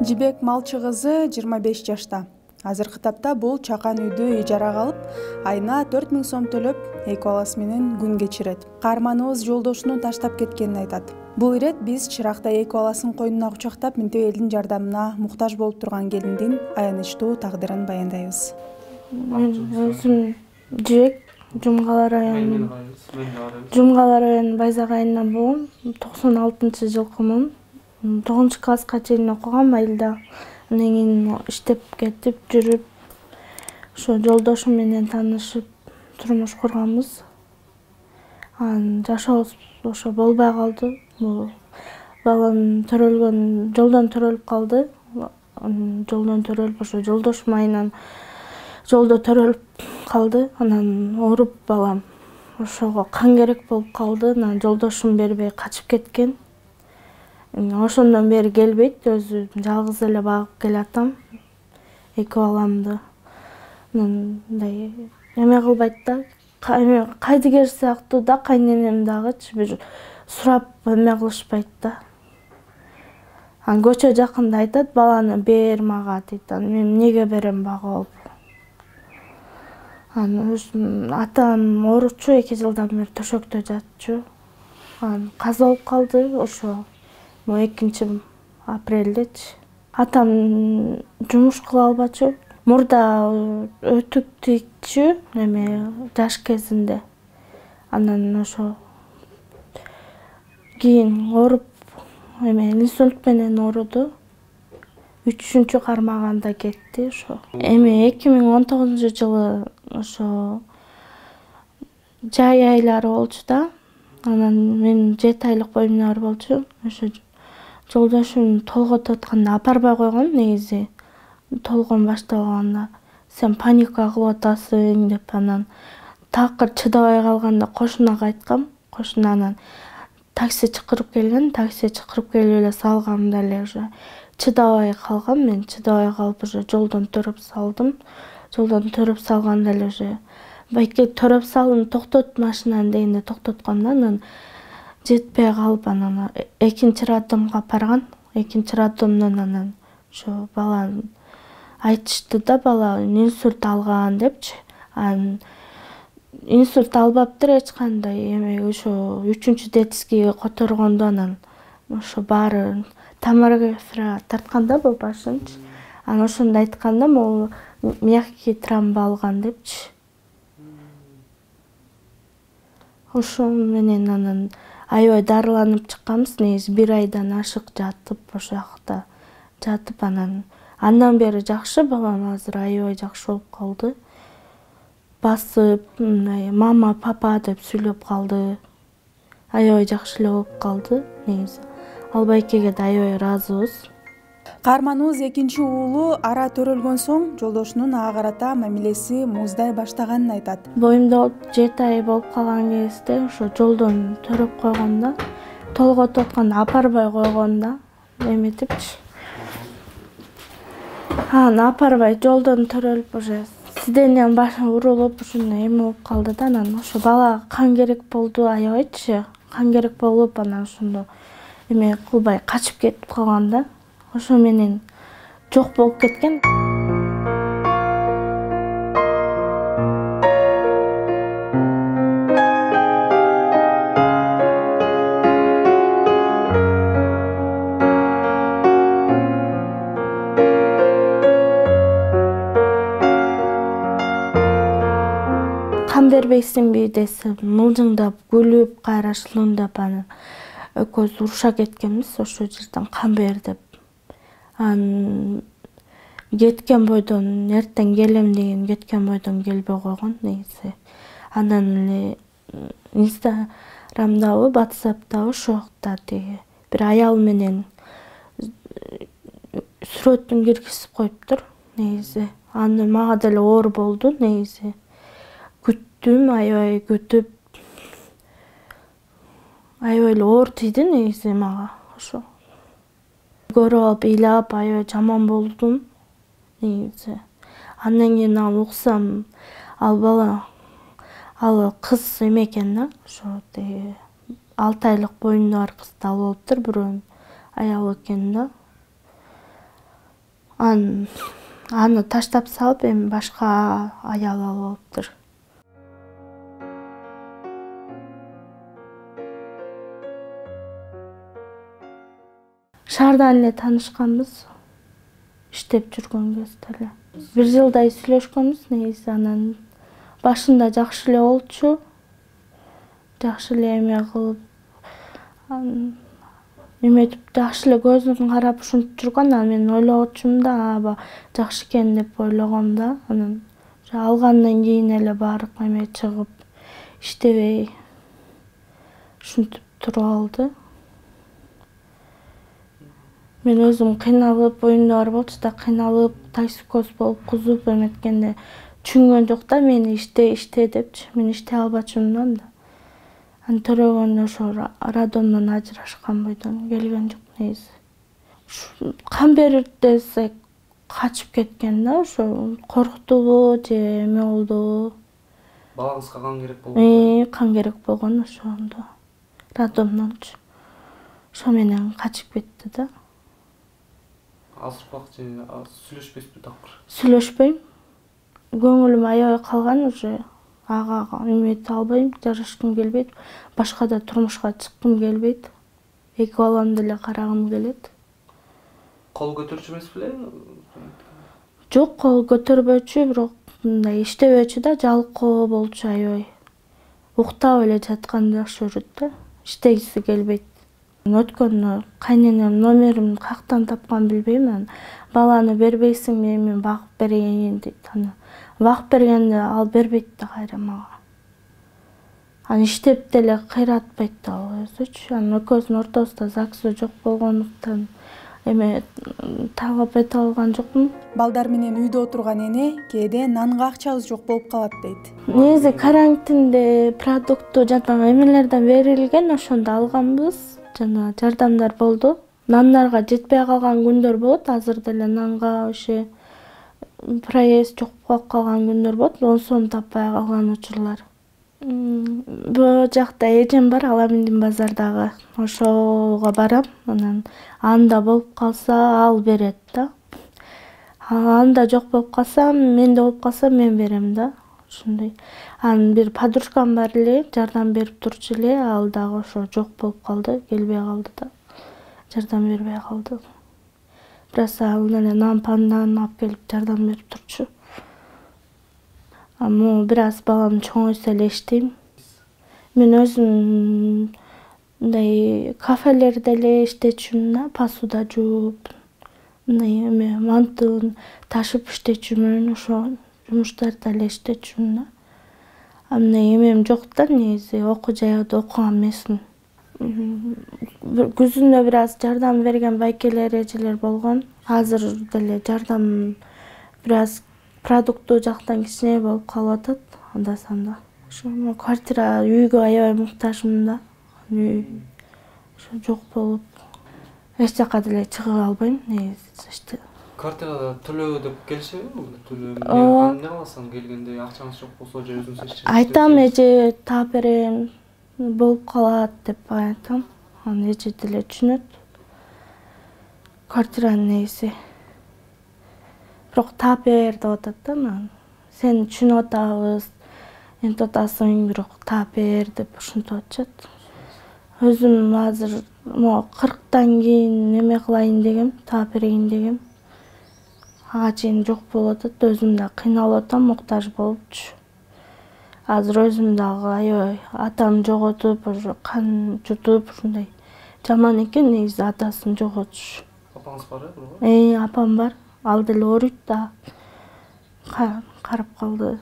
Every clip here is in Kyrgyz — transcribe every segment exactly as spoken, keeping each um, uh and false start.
Жибек Малчы кызы жыйырма беш жашта. Азыркы тапта бул чакан үйдү ижарага алып, айына төрт миң сом төлөп, эки баласы менен күн кечирет. Каарманыбыз жолдошунун таштап кеткенин айтат. Бул ирет биз Чыракта эки баласын койнуна кучактап, мынтип элдин жардамына муктаж болуп турган келиндин аянычтуу тагдырын баяндайбыз. Мен өзүм Жибек, Жумгала районунун Жумгала районунун Байзак айылынан болгом. токсон алтынчы жылкымын. тогузунчу класска чейин окугам айылда. Андан кийин иштеп кетип жүрүп, ошо жолдошум менен таанышып, турмуш курганбыз. Анан жашообуз ошо болбой калды. Бул балам төрөлгөн, жолдон төрөлүп калды. Жолдон төрөлүп, ошо жолдошум айынан жолдо төрөлүп калды. Анан ооруп балам. Ошого кан керек болуп калды. Анан жолдошум бербей качып кеткен. Ошондон бери келбейт, өзү жалгыз эле багып келатам эки баламды. Мындай эме кылбайт да, кайдыгер сыяктуу да, кайненем дагычы бир сурап эме кылышпайт да. Анан көчө жакында айтат, баланы бер мага дейт. Анан мен эмнеге берем багып? Анан атам ооручу, эки жылдан бери төшөктө жатчу. Анан каза болуп калды ошо экинчи апрелдечи. Атам жумуш кыла албачу. Мурда өтүк тийчү эме жаш кезинде. Анан ошо кийин ооруп, эме инсульт менен ооруду. үчүнчү кармаганда кетти ошо. Эми эки миң он тогузунчу жылы ошо жай айлары болчу да. Анан мен жети айлык боюмда бар болчу. Ошо жолдошум толготуп атканда апарбай койгон негизи. Толгон башталганда сен паника кылып атасың деп, анан такыр чыдабай калганда кошунага айткам. Кошуна анан такси чакырып келген, такси чакырып келип эле салгам деле уже. Чыдабай калгам мен, чыдабай калып уже жолдон төрөп салдым. Жолдон төрөп салганда эле уже байке төрөп салдым, токтот машинаны дегенде токтотком да. Анан жетпей калып анан экинчи роддомго барган. Экинчи роддомдон анан ошо баланы айтышты да, бала инсульт алган депчи. Анан инсульт албаптыр эч кандай, эми ошо үчүнчү детскийге которгондо анан ошо баары томография тартканда бул башынчы. Анан ошондо айтканда, могу мягкий тромб алган депчи. Ошо менен анан аябай дарыланып чыкканбыз. Негизи бир айдан ашык жатып, ошо жакта жатып, анан андан бери жакшы, балам азыр аябай жакшы болуп калды. Басып, мындай мама, папа деп сүйлөп калды. Аябай жакшы эле болуп калды негизи. Ал байкеге да аябай ыраазыбыз. Каарманыбыз экинчи уулу ара төрөлгөн соң жолдошунун ага карата мамилеси муздай баштаганын айтат. Боюмда жети ай болуп калган кезде ошо жолдон төрөп койгон да, толготуп атканда апарбай койгон да, эметипчи. Анан апарбай жолдон төрөлүп уже сиденьянын башы урулуп, ушундай эме болуп калды да. Анан ошо балага кан керек болду аябайчы. Кан керек болуп, анан ошондо эме кылбай качып кетип калган да. Ошо менен жок болуп кеткен. Кан бербейсиңби десе, мылжыңдап, күлүп, кайра шылымдап, анан экөөбүз уруша кеткенбиз ошол жерден кан бер деп. Анан кеткен бойдон эртең келем деген кеткен бойдон келбей койгон негизи. Андан эле Инстаграмдабы, WhatsApp'табы ошокта тиги бир аял менен сүрөтүн киргизип коюптур негизи. Аны мага деле оор болду негизи. Күттүм, аябай күтүп, аябай эле оор тийди негизи мага ошо. Көрүп алып, ыйлап, аябай жаман болдум негизи. Андан кийин ал уксам, ал бала, ал кыз эме экен да, ошо тиги алты айлык боюмда бар кызды алып алыптыр, бирөөнүн аялы экен да. Аны аны таштап салып эми башка аял алып алыптыр. Шаардан эле таанышканбыз. Иштеп жүргөн кезде эле. Бир жылдай сүйлөшкөнбүз негизи. Анан башында жакшы эле болчу. Жакшы эле эме кылып, эметип жакшы эле көзүн карап ушинтип жүргөн. Анан мен ойлогочумун да, аба жакшы экен деп ойлогом да. Анан алгандан кийин эле баары эме чыгып, иштебей ушинтип туруп алды. Мен өзүм кыйналып, оюмда бар болчу да, кыйналып, токсикоз болуп, кузуп эметкенде түшүнгөн жок да мени иште, иште депчи. Мен иштей албачумун да. Аны төрөгөндө ошо роддомдон ажырашкан бойдон келген жок негизи. Кан берип десек качып кеткен да, ошо корктубу же эме болдубу. Балаңызга кан керек болгон? Э, кан керек болгон ошондо. Роддомдончу. Ошо менен качып кетти да. Азыр убакыт же сүйлөшпөйсүзбү такыр? Сүйлөшпөйм. Көңүлүм аябай калган уже. Ага эмете албайм, жарашкым келбейт. Башка да турмушка чыккым келбейт. Эки баламды эле карагым келет. Кол көтөрчү эмес беле? Жок, кол көтөрбөчү, бирок мындай иштебөчү да, жалкоо болчу аябай. Уктап эле жаткандай окшоп жүрөт да. Иштегиси келбейт. Өткөндө кайненем номеримди каяктан тапкан билбейм. Баланы бербейсиңби, мен багып берейин дейт. Аны багып бергенде ал бербейт да кайра мага. Аны иштеп деле кыйратпайт да ал өзүчү. Анын экөөбүздүн ортобузда ЗАГС жок болгондуктан эме талап эте алган жокмун. Балдар менен үйдө отурган эне кээде нанга акчабыз жок болуп калат дейт. Негизи карантинде продукту жана эмелерден берилген, ошондо алганбыз. Жана жардамдар болду. Нандарга жетпей калган күндөр болот. Азыр деле нанга ошо проезд жок болуп калган күндөр болот. он сом таппай калган учурлар. Бул жакта эжем бар, Аламиндин базардагы. Ошого барам. Анан анда болуп калса ал берет да. Анда жок болуп калса, менде болуп калса мен берем да. Ошондой. Анын бир подружкам бар эле, жардам берип турчу эле, ал дагы ошо жок болуп калды, келбей калды да. Жардам бербей калды. Бираз ал эле нан пандан алып келип жардам берип турчу. А могу бираз балам чоңойсо эле иштейм. Мен өзүм мындай кафелерде эле иштечүмүн да, посуда жууп, мындай эме мантын ташып иштечүмүн, ошо жумуштарда эле иштечүмүн да. А мындай эмем жок да, негизи окуу жайда окуган эмесмин. Күзүндө бираз жардам берген байкелер, эжелер болгон. Азыр деле жардам бираз продукту жактан кичине болуп калып атат, анда-санда. Ошо квартира, үйгө аябай муктажмын да. Үй ошо жок болуп, эч жака деле чыга албайм негизи. Квартирада төлөө деп келишеби? Төлөө эмне кыласың келгенде акчаңыз жок болсо же өзүңүз иштешиңиз? Айтам, эже таап берем, болуп калат деп айтам. Аны эже деле түшүнөт. Квартиранын негизи. Бирок таап бер деп атат да мага. Сени түшүнүп атабыз, энтип атасың, бирок таап бер деп ушинтип атышат. Өзүм азыр могу кырктан кийин эме кылайын дегем, таап берейин дегем. Ага чейин жок болуп атат, өзүм да кыйналып атам, муктаж болупчу. Азыр өзүм дагы аябай атам жоготуп, ошо кан жутуп, ушундай жаман экен негизи атасын жоготуш. Апаңыз бар э? Э, апам бар. Ал деле ооруйт да. Карап калды.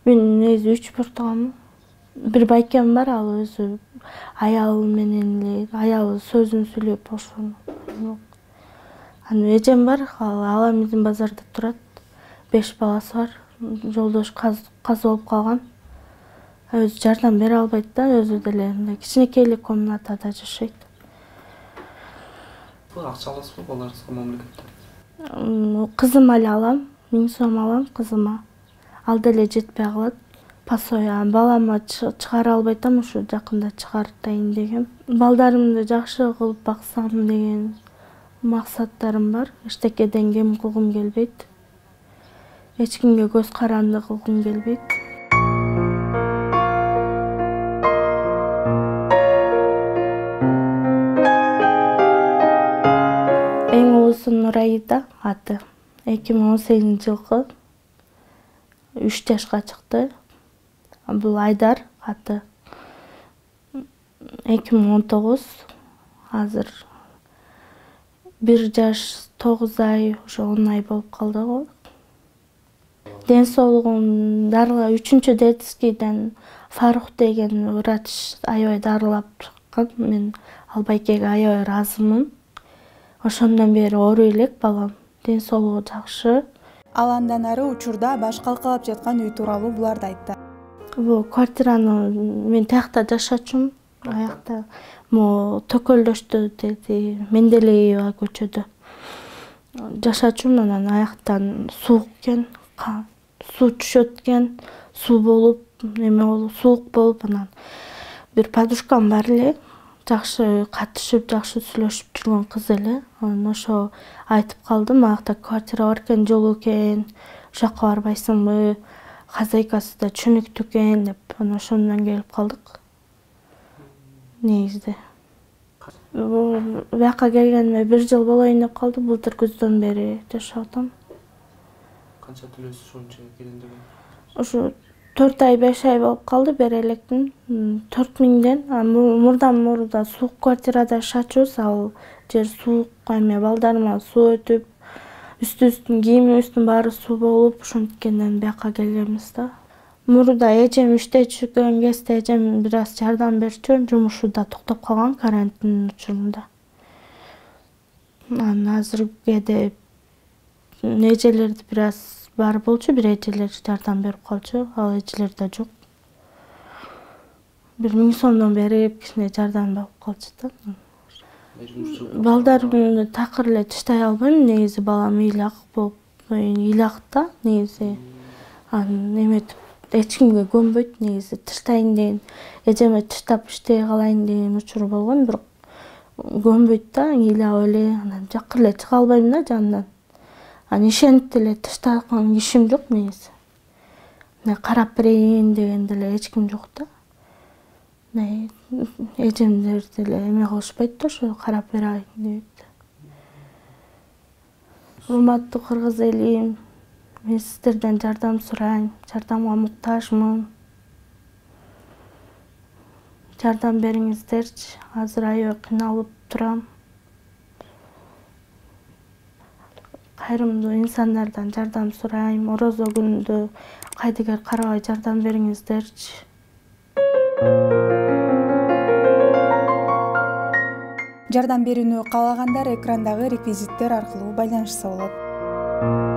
Мен негизи үч буртугамын. Бир байкем бар, ал өзү аялы менен эле, аялы сөзүн сүйлөп ошону. Анан эжем бар, ал Аламиндин базарда турат. беш баласы бар. Жолдош казы болуп калган. Өзү жардам бере албайт да, өзү деле мындай кичинекей эле комнатада жашайт. Акча аласызбы балдарыңызга мамлекеттен? Кызыма эле алам, миң сом алам кызыма. Ал деле жетпей калат. Пасоя балама чыгара албай атам, ушу жакында чыгартайын дегем. Балдарымды жакшы кылып баксам деген максаттарым бар. Эчтекеден кем кылгым келбейт. Эч кимге көз каранды кылгым келбейт. Эң улусу Нурайда аты. эки миң он сегизинчи жылкы үч жашка чыкты. Бул Айдар аты. эки миң он тогуз. Азыр бир жаш тогуз ай, ошо он ай болуп калды го. Ден соолугум дарыла үчүнчү детскийден Фарух деген врач аябай дарылап чыккан. Мен Албайкеге аябай ыраазымын. Ошондон бери ооруй элек балам. Ден соолугу жакшы. Ал андан ары учурда баш калкалап жаткан үй тууралуу буларды айтты. Бул квартираны мен тиякта жашачумун. Аякта могу Төкөлдөштө деди Менделеева көчөдө жашачумун. Анан аяктан суук экен, суу түшөт экен, суу болуп, эме болуп, суук болуп, анан бир подружкам бар эле, жакшы катышып, жакшы сүйлөшүп жүргөн кыз эле. Анан ошо айтып калды, аякта квартира бар экен, жолу экен, ошока барбайсыңбы, хозяйкасы да чөнүктүү экен деп. Анан ошондон келип калдык. Негизде. Бияка келгениме бир жыл болоюн деп калды. Былтыр күздөн бери жашап атам. Канча төлөйсүз ошончо келин деген? Ошо төрт ай, беш ай болуп калды бере электин. төрт миңден. Мурдан мурда суук квартирада жашачубуз. Ал жер суук, эме балдарыма суу өтүп, үстүбүздүн кийимибиздин баары суу болуп, ошонткенден бияка келгенбиз да. Мурда эжем иштечүгөн кезде эжем бир аз жардам берчү, жумушу да токтоп калган карантин учурунда. Анан азыркыде эжелерди бир аз бар болчу, бир эжелер жардам берип калчу, ал эжелер да жок. Бир миң сомдон берип, кичине жардам берип калчу да. Балдарымды такыр эле тыштай албайм, негизи балам ыйлак болуп, ыйлак да негизи. Анан эметип эч кимге көнбөйт негизи. Тыштайын деген, эжеме тыштап иштей калайын деген учур болгон, бирок көнбөйт да, ыйлап эле, анан жакыр эле чыга албайм да жанынан. Анан ишенип деле тыштаган кишим жок негизи. Мына карап берейин деген деле эч ким жок да. Эжемдер деле эме кылышпайт да, ошо карап берейин дейт. Урматтуу кыргыз элим, мен сиздерден жардам сурайм, жардамга муктажмын. Жардам бериңиздерчи, азыр аябай кыйналып турам. Кайрымдуу инсандардан жардам сурайм, орозо күнүндө кайдыгер карабай жардам бериңиздерчи. Жардам берүүнү каалагандар экрандагы реквизиттер аркылуу байланышса болот.